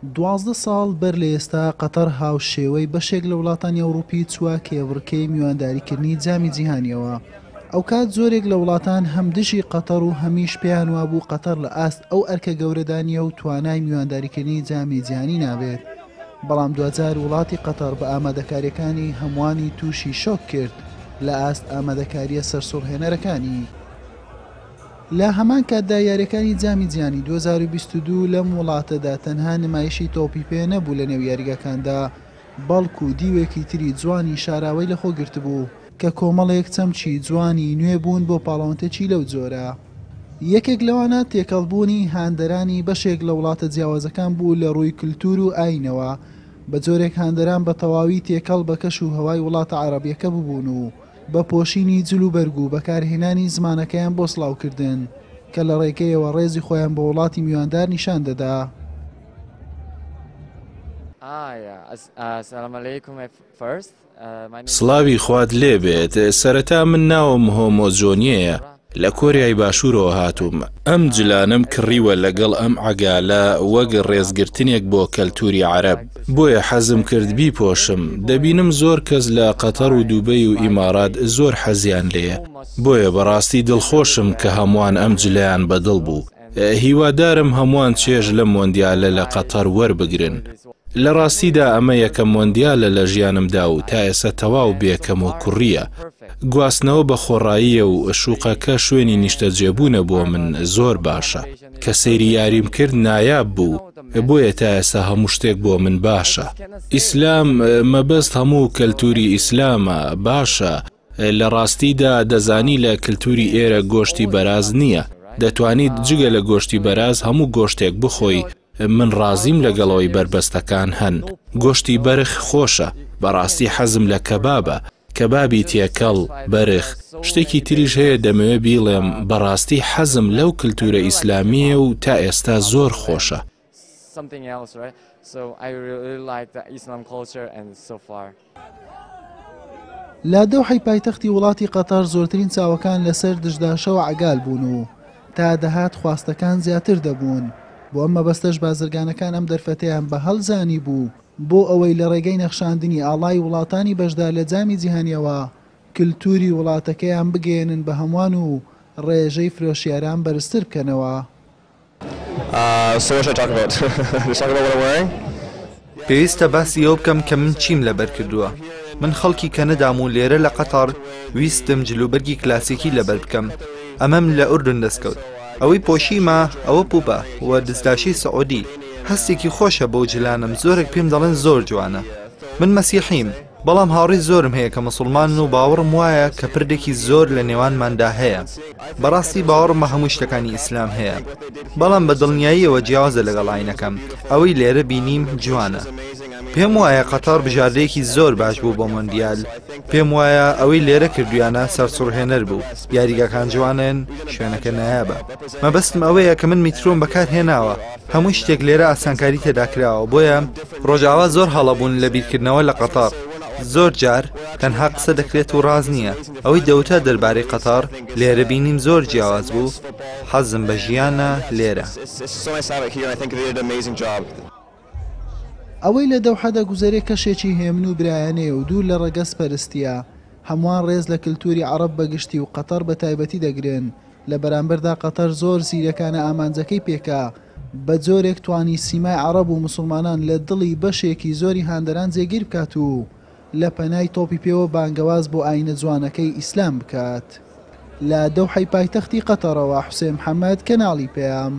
12 ساڵ بەر لە ئێستا قەتەر هاوشێوەی بەشێک لە وڵاتانی ئەوڕوپی چووە کێبڕکێی میوانداریکردنی جامی جیهانیەوە. ئەوکات زۆرێک لە وڵاتان هەم دژی قەتەر و هەمیش پێیان وابوو قەتەر لە ئاست ئەو ئەرکە گەورەدا نییە و توانای میوانداریکردنی جامی جیهانی نابێت. بەڵام دواجار وڵاتی قەتەر بە ئامادەکارییەکانی هەمووانی تووشی شۆک کرد لە ئاست ئامادەکارییە سەرسوڕهێنەرەکانی. لە هەمان کاتدا یارییەکانی جامی جیهانی 2022 لەم وڵاتەدا تەنها نمایشی تۆپی پێ نەبوو لە نێو یاریگاکاندا، بەڵکو دیوێکی تری جوانی شاراوەی لەخۆ گرتبوو، کە کۆمەڵێک چەمکی جوانی نوێ بوون بۆ پاڵەوانتێکی لەو جۆرە. یەکێک لەوانە تێکەڵبوونی هاندەرانی بەشێک لە وڵاتە جیاوازەکان بوو لە ڕووی کلتور و ئاینەوە، بە جۆرێک هاندەران بە تەواوی تێکەڵ بە کەش و هەوای وڵاتە عەڕەبیەکە ببوون و بە پۆشینی جل و بەرگ و بەکارهێنانی زمانەکەیان بۆ سڵاوکردن، کە لە ڕێگەیەوە ڕێزی خۆیان بۆ وڵاتی میواندار نیشان دەدا. سڵاوی خوات لێ بێت سەرەتا من ناوم هۆمۆ جۆنیەیە لە کۆریای باشوورەوە هاتووم ئەم جلانەم کڕیوە لەگەڵ ئەم عەگالە وەک ڕێزگرتنێک بۆ کەلتوری عەرەب بۆیە حەزم کرد بیپۆشم دەبینم زۆر کەس لە قەتەڕ و دوبەی و ئیمارات زۆر حەزیان لێیە بۆیە بەڕاستی دڵخۆشم کە هەمووان ئەم جلەیان بەدڵ بوو هیوادارم هەمووان چێژ لەم مۆندیالە لە قەتەر وەربگرن. لە ڕاستیدا ئەمە یەکەم مۆندیالە لە ژیانمدا و تا ئێستا تەواو بێ کەموکوڕییە. گواستنەوە بە خۆڕاییە و شوقەکە شوێنی نیشتەجێبوونە بۆ من زۆر باشە. کە سەیری یاریم کرد نایاب بوو، بۆیە تا ئێستا هەموو شتێک بۆ من باشە. ئیسلام، مەبەست هەموو کەلتوری ئیسلامە، باشە. لە ڕاستیدا دەزانی لە کلتوری ئێرە گۆشتی بەراز نییە، دەتوانیت جگە لە گۆشتی بەراز هەموو گۆشتێک بخۆی، من ڕازیم لەگەڵ ئەوەی بەربەستەکان هەن، گۆشتی بەرخ خۆشە، بەڕاستی حەزم لە کەبابە، کەبابی تێکەڵ، بەرخ، شتێکی تریش هەیە دەمەوێ بیڵێم، بەڕاستی حەزم لەو کلتورە ئیسلامییە و تا ئێستا زۆر خۆشە. لە دەوحەی پایتەختی وڵاتی قەتەر زۆرترین چاوەکان لەسەر دشداشە و عەگال بوون و تا دەهات خواستەکان زیاتر دەبوون، بۆ ئەم مەبەستەش بازرگانەکان ئەم دەرفەتەیان بە هەل زانیبوو بۆ ئەوەی لە ڕێگەی نەخشاندنی ئاڵای وڵاتانی بەشدار لە جامی جیهانیەوە کلتوری وڵاتەکەیان بگەیەنن بە هەموان و ڕێژەی فرۆشیاران بەرزتر بکەنەوە. پێویستە باسی ئەوە بکەم کە من چیم لەبەر کردووە. من خەڵکی کەنەدام و لێرە لە قەتەڕ ویستم جلوبەرگی کلاسیکی لەبەر بکەم. ئەمەم لە ئوردن دەستکەوت. ئەوەی پۆشیمە ئەوە پوپە و دزداشەی سعودی. هەستێکی خۆشە بەو جلانەم زۆرێک پێم دەڵێن زۆر جوانە. من مەسیحیم. بەڵام هاوڕێی زۆرم هەیە کە موسڵمانن و باوەڕم وایە کە پردێکی زۆر لە نێوانماندا هەیە. بەڕاستی باوەڕم بە هەموو شتەکانی ئیسلام هەیە. بەڵام بە دڵنیاییەوە جیاوازە لەگەڵ ئاینەکەم. ئەوەی لێرە بینیم جوانە. پێم وایە قەتەڕ بژاردەیەکی زۆر باش بوو بۆ مۆندیال. پێم وایە ئەوەی لێرە کردویانە سەرسوڕهێنەر بوو. یاریگاکان جوانن، شوێنەکە نایابە. مەبەستم ئەوەیە کە من میترۆم بەکارهێناوە. هەموو شتێک لێرە ئاسانکاری تێدا کراوە بۆیە ڕۆژاوا زۆر هەڵە بوون لە بیرکردنەوە لە قەتەڕ زۆر جار تەنها قسە دەکرێت و ڕاست نییە ئەوەی دەوترا دەربارەی قەتەڕ لێرە بینیم زۆر جیاواز بوو حەزم بە ژیانە لێرە. ئەوەی لە دەوحە دەگوزەرێ کەشێکی هێمن و برایانەیە و دوور لە ڕەگەز پەرستییە، هەمووان ڕێز لە کلتوری عەڕەب بە گشتی و قەتەڕ بە تایبەتی دەگرن، لە بەرامبەردا قەتەر زۆر زیرەکانە ئامانجەکەی پێکا، بە جۆرێک توانی سیمای عەڕەب و موسڵمانان لە دڵی بەشێکی زۆری هاندەران جێگیر بکات و لە پەنای تۆپی پێوە بانگەواز بۆ ئاینە جوانەکەی ئیسلام بکات. لە دەوحەی پایتەختی قەتەڕەوە حوسێن محەمەد، کەناڵی پەیام.